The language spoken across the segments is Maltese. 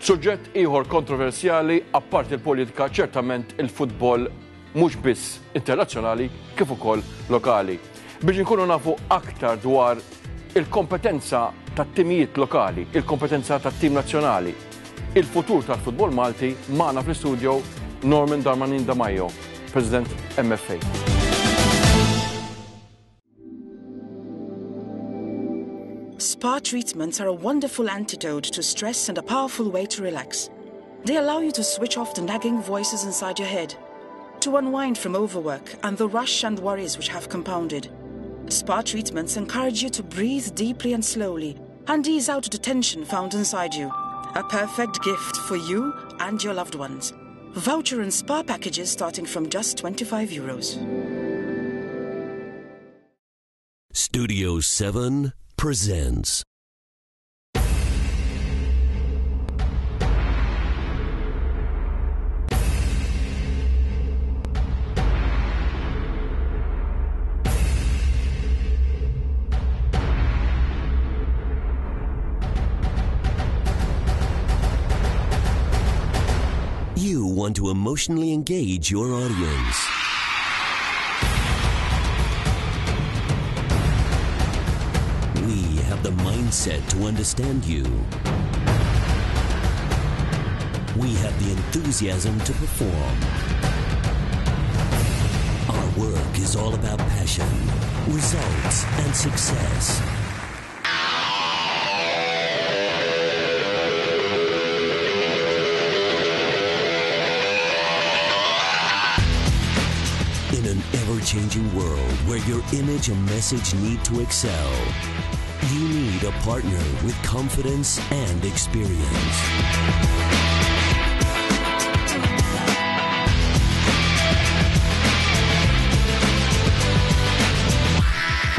Suġġett ieħor kontroversjali apparti il-politika ċertament il-futbol mhux biss internazzjonali kif ukoll lokali. Biex inkunu nafu aktar dwar il-kompetenza tat-timijiet lokali, il-kompetenza tat-tim nazzjonali, il-futur tal-futbol Malti magħna fl-istudio Norman Darmanin Damajo, President MFA. Spa treatments are a wonderful antidote to stress and a powerful way to relax. They allow you to switch off the nagging voices inside your head, to unwind from overwork and the rush and worries which have compounded. Spa treatments encourage you to breathe deeply and slowly and ease out the tension found inside you. A perfect gift for you and your loved ones. Voucher and spa packages starting from just 25 euros. Studio 7 presents. You want to emotionally engage your audience. We have the mindset to understand you. We have the enthusiasm to perform. Our work is all about passion, results, and success. In an ever-changing world where your image and message need to excel, you need a partner with confidence and experience.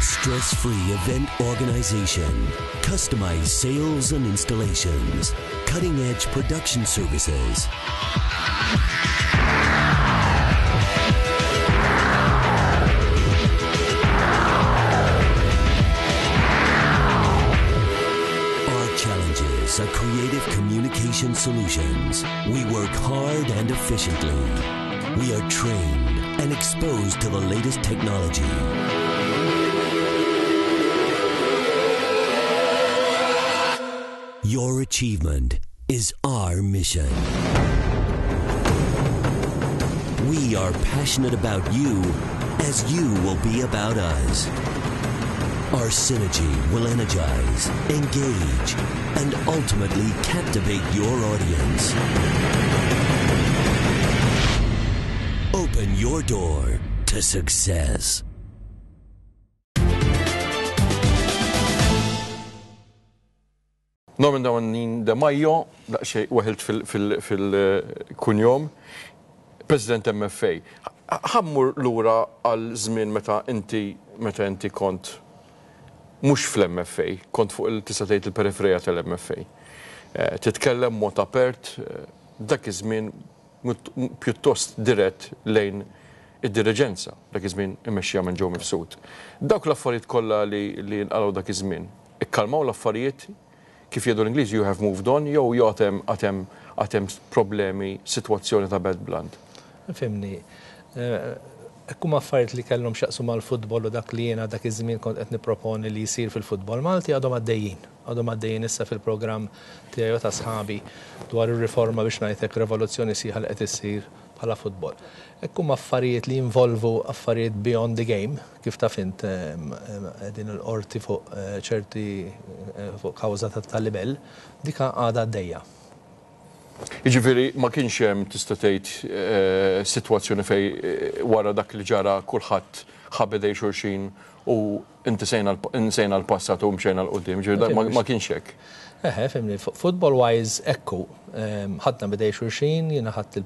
Stress-free event organization, customized sales and installations, cutting-edge production services. Our challenges are creative communication solutions. We work hard and efficiently. We are trained and exposed to the latest technology. Your achievement is our mission. We are passionate about you as you will be about us. Our synergy will energize, engage, and ultimately captivate your audience. Open your door to success. Norman Dawanin De Majo, daqsxejn weħilt fil-kunjom, President MFA. Ħa mmur lura għal żmien meta inti meta inti kont mhux fl-MFA, kont fuq il tista' tgħid il-periferija tal-MFA. Titkellem mod apert, dak iż-żmien pjuttost dirett lejn id-diriġenza, dak iż-żmien immexxija minn Joe Mifsud. Dawk l-affarijiet kollha li nqalgħu dak iż-żmien, ikkalmaw l-affarijiet, kif jgħidu l-Ingliżi you have moved on jew jew għad hemm għad hemm għad hemm problemi, sitwazzjoni ta' bad blood? Fhimni. Hekk huma affarijiet li kellhom x'jaqsmu mal-futbol u dak li jiena dak iż-żmien kont qed nipproponi li jsir fil-futbol Malti għadhom għaddejjin. Għadhom għaddejjin issa fil-programm tiegħi u ta' sħabi dwar ir-riforma biex ngħid hekk revoluzzjoni sħiħa li qed issir bħala futbol. Hekk huma affarijiet li jinvolvu affarijiet beyond the game, kif taf int qegħdin il-qorti fuq ċerti fuq kawża ta' libell, dik għadha għaddejja. Jiġifieri ma kienx hemm tista' tgħid sitwazzjoni fejn wara dak li ġara kulħadd ħa b'idejn xulxin u intisejna insejna l-passat u mxejna 'l quddiem, ġifieri ma kienx hekk. Eħe, fhimni, football wise ekku, ħadna bidej xulxin, jiena ħadt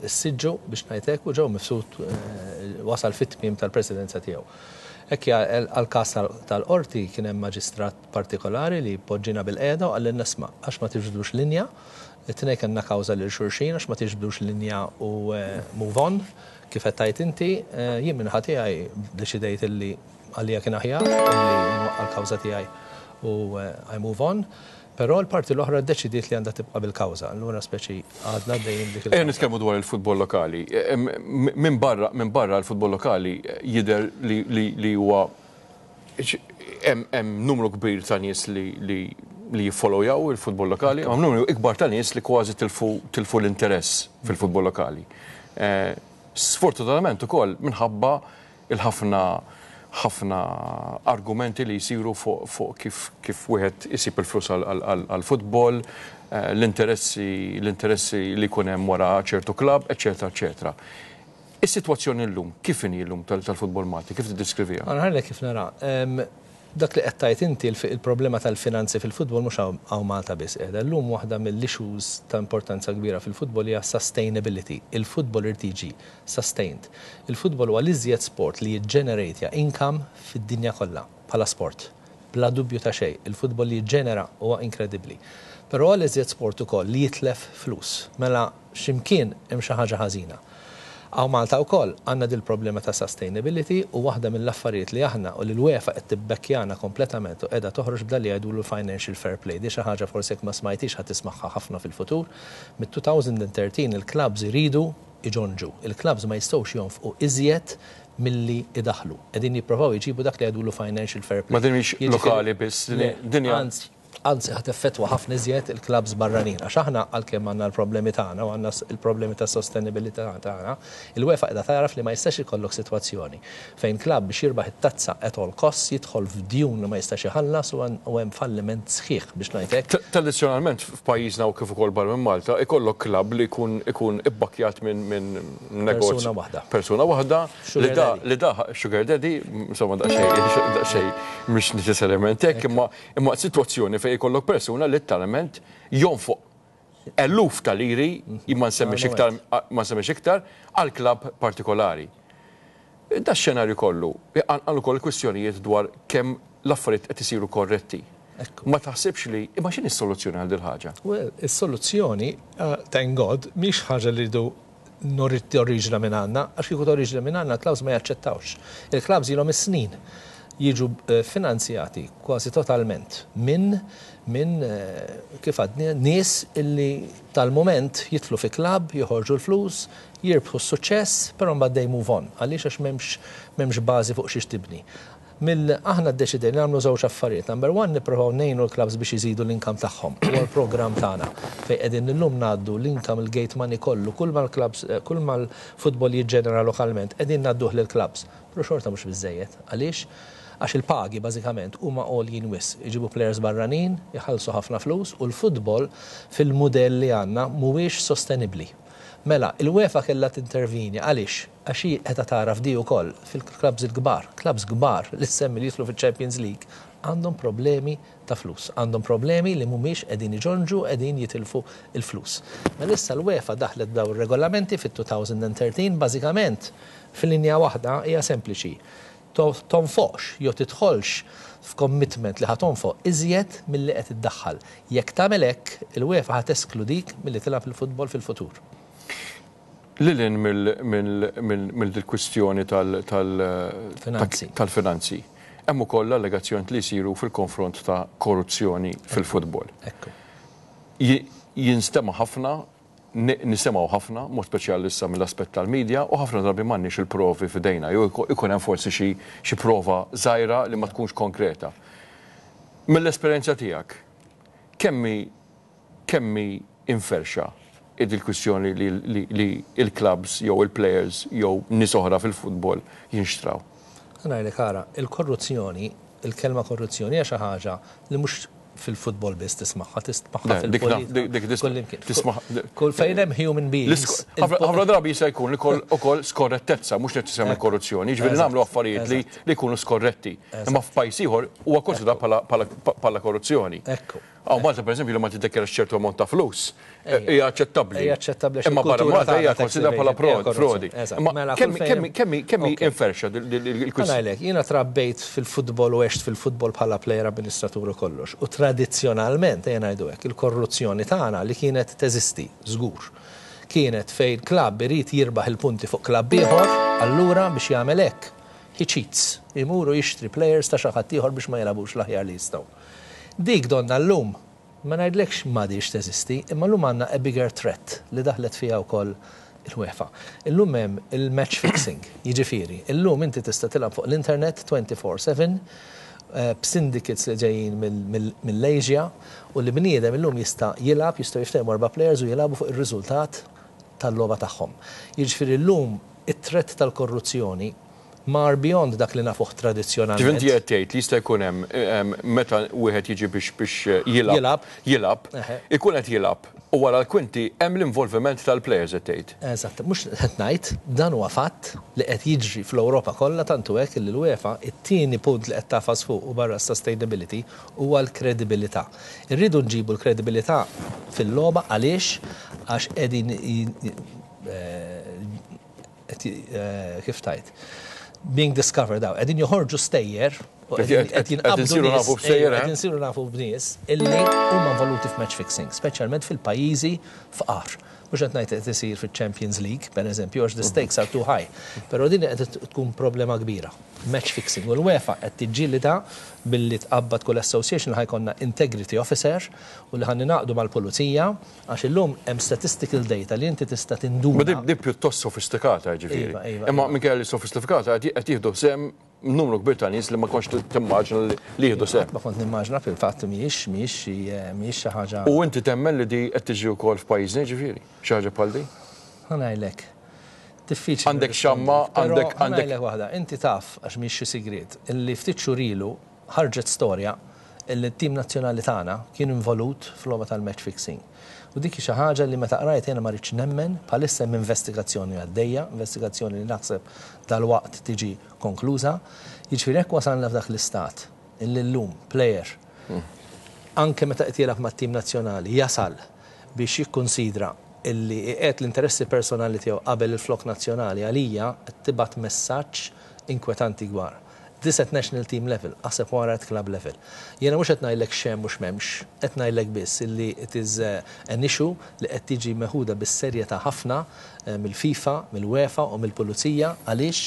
is-siġġu biex ngħid hekk u Joe Mifsud wasal fit-tmiem tal-presidenza tiegħu. Hekk għall-każ tal-qorti kien hemm maġistrat partikolari li poġġina bilqiegħda u qalilna isma' għax ma tiġbdux linja, it-tnejn kellna kawża lil xulxin għax ma tiġbdux linja u move on, kif qed tgħid inti, jien min-naħa tiegħi ddeċidejt illi għalija kien aħjar illi nwaqqa' l-kawża tiegħi u I move on. Però l-parti l-oħra ddeċidiet li għandha tibqa' bil-kawża. Allura speċi għadna għaddejjin b'dik il-kawża. Ejja nitkellmu dwar il-futbol lokali. Minn barra, minn barra l-futbol lokali jidher li li huwa hemm numru kbir ta' nies li li li jiffollowjaw il-futbol lokali, hemm numru ikbar ta' nies li kważi tilfu tilfu l-interess fil-futbol lokali. Sfortunatament ukoll minħabba il-ħafna ħafna argumenti li jsiru fuq fuq kif kif wieħed isib il-flus għall-futbol, l-interessi l-interessi li jkun hemm wara ċertu klabb, eċċetera, eċċetera. Is-sitwazzjoni llum, kif inhi llum tal-futbol Malti, kif tiddeskriviha? Ħa ngħidlek kif nara. Dak li qed tgħid inti, il-problema tal-finanzi fil-futbol mhux hawn Malta biss qiegħda. Illum waħda mill-issues ta' importanza kbira fil-futbol hija sustainability. Il-futbol irid jiġi sustained. Il-futbol huwa l-iżjed sport li jiġġenerejtja income fid-dinja kollha bħala sport. Bla dubju ta' xejn, il-futbol li jiġġenera huwa inkredibbli. Però huwa l-iżjed sport ukoll li jitlef flus. Mela xi mkien hemm xi ħaġa ħażina. Hawn Malta wkoll għandna dil-problema ta' sustainability u waħda mill-affarijiet li aħna u li l-UEFA qed tibbekkjana kompletament u qiegħda toħroġ b'dan li jgħidulu l-financial fair play. Di xi ħaġa forsi jekk ma smajthiex ħa tismagħha ħafna fil-futur. Mit-2013 il-clubs iridu iġonġu. Il-clubs ma jistgħux jonfqu iżjed milli idaħħlu. Qegħdin jipprovaw iġibu dak li jgħidulu financial fair play. Ma din mhix lokali biss, din hija. Anzi, ħa teffettwa ħafna iżjed il-klabbs barranin. Għax aħna għalkemm għandna l-problemi tagħna u għandna l-problemi ta' sostenibilità tagħna, il-UEFA qiegħda tagħraf li ma jistax ikollok sitwazzjoni fejn klabb biex jirbaħ it-tazza at all costs jidħol f'djun li ma jistax iħallas u hemm falliment sħiħ biex ngħid hekk. Tradizzjonalment f'pajjiżna u kif ukoll barra minn Malta ikollok klabb li jkun ikun ibbakkjat minn minn negozju. Persuna waħda. Persuna waħda li da li da sugar daddy, insomma daqsxejn daqsxejn mhux neċessarjament hekk imma Imma sitwazzjoni fejn ikollok persuna litteralment jonfoq eluf ta' liri, ma nsemmix iktar, ma nsemmix iktar, għal klabb partikolari. Da xenarju kollu, iqanqal ukoll kwistjonijiet dwar kemm l-affarijiet qed isiru korretti. Ma taħsibx li, imma x'inhi s-soluzzjoni għal dil-ħaġa? Well, is-soluzzjoni, thank God, mhix ħaġa li rridu toriġina minn għandna, għax kieku toriġina minn għandna l-clubs ma jaċċettawx. Il-clubs ilhom is-snin jiġu finanzjati kważi totalment minn minn kif għadni nies illi tal-mument jidħlu fi club, joħorġu l-flus, jirbħu s-suċċess, però mbagħad they move on. Għaliex għax m'hemmx m'hemmx bażi fuq xiex tibni. Mill aħna ddeċidejna nagħmlu żewġ affarijiet. Number one nipprovaw ngħinu l-clubs biex iżidu l-income tagħhom. Huwa l-programm tagħna fejn qegħdin illum ngħaddu l-income, il-gate money kollu, kull ma l-clubs, kull ma l-futbol jiġġenera lokalment qegħdin ngħadduh lill-clubs. Però xorta mhux biżżejjed. Għaliex? Għax il-pagi bażikament huma għoljin wisq. Iġibu players barranin, iħallsu ħafna flus u l-futbol fil-mudell li għandna mhuwiex sostenibbli. Mela, il-UEFA kellha tintervini. Għaliex? Għax hi qiegħda tagħraf di wkoll fil-clubs il-kbar. Clubs kbar li ssemmi li jidħlu fiċ-Champions League għandhom problemi ta' flus. Għandhom problemi li mhumiex qegħdin iġonġu, qegħdin jitilfu l-flus. Mela issa l-UEFA daħlet b'dawn ir-regolamenti fit-2013 bażikament f'linja waħda hija sempliċi. Tonfoqx jew tidħolx f'commitment li ħa tonfoq iżjed milli qed iddaħħal. Jekk tagħmel hekk, il-UEFA ħa teskludik milli tilgħab il-futbol fil-futur. Lil hinn mill-kwistjoni tal-finanzi, hemm ukoll l-allegazzjonijiet li jsiru fil-konfront ta' korruzzjoni fil-futbol. Jinstema' ħafna, nisimgħu ħafna, mod speċjali issa mill-aspett tal-media, u ħafna drabi m'għandniex il-provi f'idejna, jew ikun hemm forsi xi prova żgħira li ma tkunx konkreta. Mill-esperjenza tiegħek, kemm hi kemm hi imferrxa il-kwistjoni li l-clubs jew il-players jew nies oħra fil-futbol jinxtraw? Ħa ngħidlek ara, il-korruzzjoni, il-kelma korruzzjoni hija xi ħaġa li mhux fil-futbol biss tismagħha, tismagħha fil-politika. Kull fejn hemm human beings. Ħafna drabi jista' jkun ukoll skorrettezza, mhux neċessarjament korruzzjoni, jiġifieri nagħmlu affarijiet li jkunu skorretti. Imma f'pajjiż ieħor huwa konsidrat bħala korruzzjoni. Ekku. Hawn Malta pereżempju li ma tiddikjarax ċertu ammont ta' flus hija aċċettabbli. Hija aċċettabbli. Imma barra Malta hija konsidrata bħala frodi. Imma kemm kemm hi inferxa il-kwistjoni? Ngħidlek, jiena trabbejt fil-futbol u għext fil-futbol bħala plejer amministratur u kollox. U tradizzjonalment, ejja ngħidu hekk, il-korruzzjoni tagħna li kienet teżisti, żgur, kienet fejn klabb irid jirbaħ il-punti fuq klabb ieħor, allura biex jagħmel hekk, he cheats, imur u jixtri plejers ta' xi ħadd ieħor biex ma jilagħbux l-aħjar li jistgħu. Dik donnha llum, ma ngħidlekx m'għadhiex teżisti, imma llum għandna a bigger threat li daħlet fiha wkoll il-UEFA. Illum hemm il-match fixing, jiġifieri, illum inti tista' tilgħab fuq l-internet 24/7 b'syndicates li ġejjin mill-Asia u li bniedem illum jista' jilgħab, jistgħu jiftehmu erba' players u jilagħbu fuq ir-riżultat tal-logħba tagħhom. Jiġifieri llum it-threat tal-korruzzjoni mar beyond dak li nafuh tradizzjonalment. Ġifieri inti qed tgħid li jista' jkun hemm meta wieħed jiġi biex biex jilgħab, jilgħab, ikun qed jilgħab u wara l-kwinti hemm l-involviment tal-players qed tgħid. Eżatt, mhux qed ngħid, dan huwa fatt li qed jiġri fl-Ewropa kollha tant hu hekk illi l-UEFA it-tieni punt li qed tagħfas fuqu barra s-sustainability huwa l-kredibilità. Irridu nġibu l-kredibilità fil-logħba għaliex għax qegħdin kif tgħid, being discovered out, qegħdin joħorġu stejjer u qed jinqabdu nies, qed insiru nafu b'nies illi huma involuti f'match fixing, speċjalment fil-pajjiżi fqar. Mhux qed ngħid qed isir fiċ-Champions League, pereżempju, għax the stakes are too high. Però din qed tkun problema kbira. Match fixing. U l-UEFA qed tiġġielidha billi tqabbad kull association li ħa jkollna integrity officer u li ħa ningħaqdu mal-pulizija Għax illum hemm statistical data li inti tista' tinduna. Ma di pjuttost sofistikata jiġifieri. Iva, iva. Imma minkejja li sofistifikata qed jieħdu sehem numru kbir ta' nies li ma kontx timmaġina li jieħdu sehem. Ma kont nimmaġina fil-fatt mhijiex mhijiex xi mhijiex xi ħaġa. U inti temmen li di qed tiġri wkoll f'pajjiżna jiġifieri, xi ħaġa bħal di? Ħa ngħidlek. Diffiċli. Għandek xamma, għandek. Ħa ngħidlek waħda, inti taf għax mhijiex xi sigriet, illi ftit xhur ilu ħarġet storja illi t-tim nazzjonali tagħna kien involut f'logħba tal-match fixing. U dik hi xi ħaġa li meta qrajt jiena ma ridtx nemmen, bħalissa hemm investigazzjoni għaddejja, investigazzjoni li naħseb dalwaqt tiġi konkluża. Jiġifieri jekk wasalna f'dak l-istat illi llum player anke meta qed jilgħab mat-tim nazzjonali jasal biex jikkunsidra illi iqiegħed l-interessi personali tiegħu qabel il-flokk nazzjonali għalija qed tibgħat messaġġ inkwetanti kbar. This at national team level, aħseb wara at club level. Jiena mhux qed ngħidlek x'hemm u x'm'hemmx, qed ngħidlek biss illi it is an issue li qed tiġi meħuda bis-serjetà ħafna mill-FIFA, mill-UEFA u mill-pulizija. Għaliex?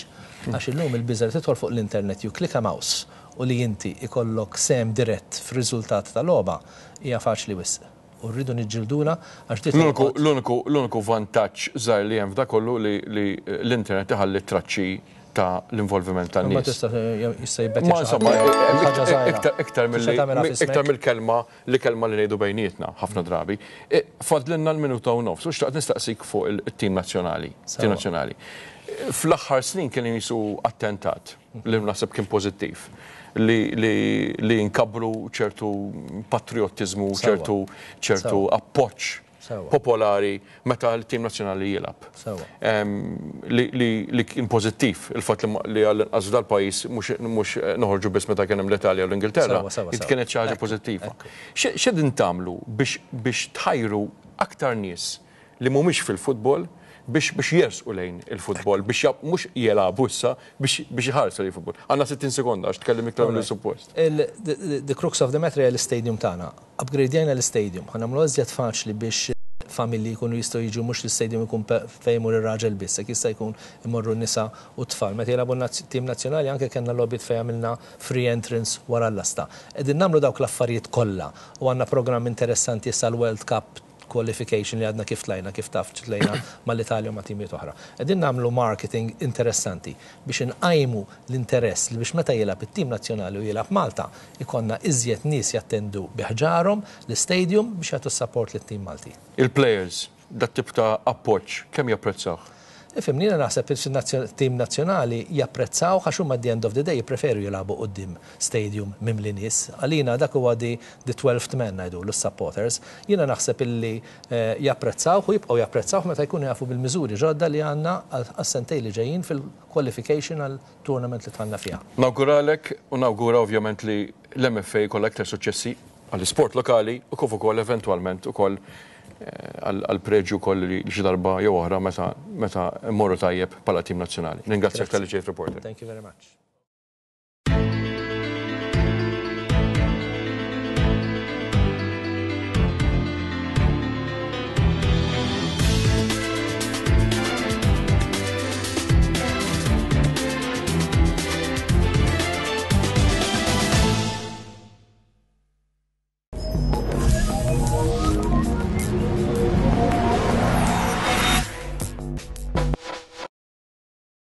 Għax illum il-biża' li tidħol fuq l-internet you click a mouse u li inti ikollok sehem dirett fir-riżultat ta' logħba hija faċli wisq. U rridu niġġildulha għax di tolqot. L-uniku l-uniku vantaġġ żgħir li hemm f'da kollu li li l-internet iħalli t-traċċi ta' l-involviment tan-nies. Ma tista' jista' jibbettja Ma insomma, iktar milli iktar mill-kelma li kelma li ngħidu bejnietna ħafna drabi. Fadlilna l-minuta u nofs u xtaqt nistaqsik fuq it-tim nazzjonali. Tim nazzjonali. Fl-aħħar snin kien jisu attentat. li naħseb kien pożittiv, li li nkabbru ċertu patriottiżmu, ċertu ċertu appoġġ popolari meta l-tim nazzjonali jilgħab. Li kien pożittiv il-fatt li għall-inqas f'dal-pajjiż mhux noħorġu biss meta kien hemm l-Italja u l-Ingilterra, kienet xi ħaġa pożittiva. X'qegħdin tagħmlu biex tħajru aktar nies li mhumiex fil-futbol biex biex jersqu lejn il-futbol, biex mhux jilagħbu issa, biex biex iħarsu lejn il-futbol. Għandna 60 sekonda għax tkellim iktar milli suppost. The crux of the matter hija l-istadium tagħna. Upgradejna l-istadium, ħa nagħmluha iżjed faċli biex familji jkunu jistgħu jiġu mhux l-istadium ikun fejn imur ir-raġel biss, hekk jista' jkun imorru n-nisa u t-tfal. Meta jilagħbu t-tim nazzjonali anke kellna logħbiet fejn għamilna free entrance wara l-lasta. Qegħdin nagħmlu dawk l-affarijiet kollha u għandna programm interessanti issa l-World Cup qualification li għadna kif tlajna, kif taf tlajna mal-Italja u ma' timijiet oħra. Qegħdin nagħmlu marketing interessanti biex inqajmu l-interess li biex meta jilgħab it-tim nazzjonali u jilgħab Malta, ikollna iżjed nies jattendu bi ħġarhom l-istadium biex jagħtu s-support lit-tim Malti. Il-players, dat-tip ta' appoġġ kemm japprezzawh? Ifhimni, jiena naħseb il-tim nazzjonali japprezzaw għax huma at the end of the day jippreferu jilagħbu quddiem stadium mimli nies. Għalina dak huwa the 12th man ngħidulu s-supporters. Jiena naħseb illi japprezzaw u jibqgħu japprezzaw meta jkunu jafu bil-miżuri ġodda li għandna għas-sentejn li ġejjin fil-qualification għal tournament li dħalna fiha. Nawguralek u nawgura ovvjament li l-MFA jkollha iktar suċċessi għall-isport lokali u kif ukoll eventwalment ukoll għall-preġju wkoll li xi darba jew oħra meta meta mmorru tajjeb bħala tim nazzjonali. Ningrazzjak talli ġejt Reporter. Thank you very much.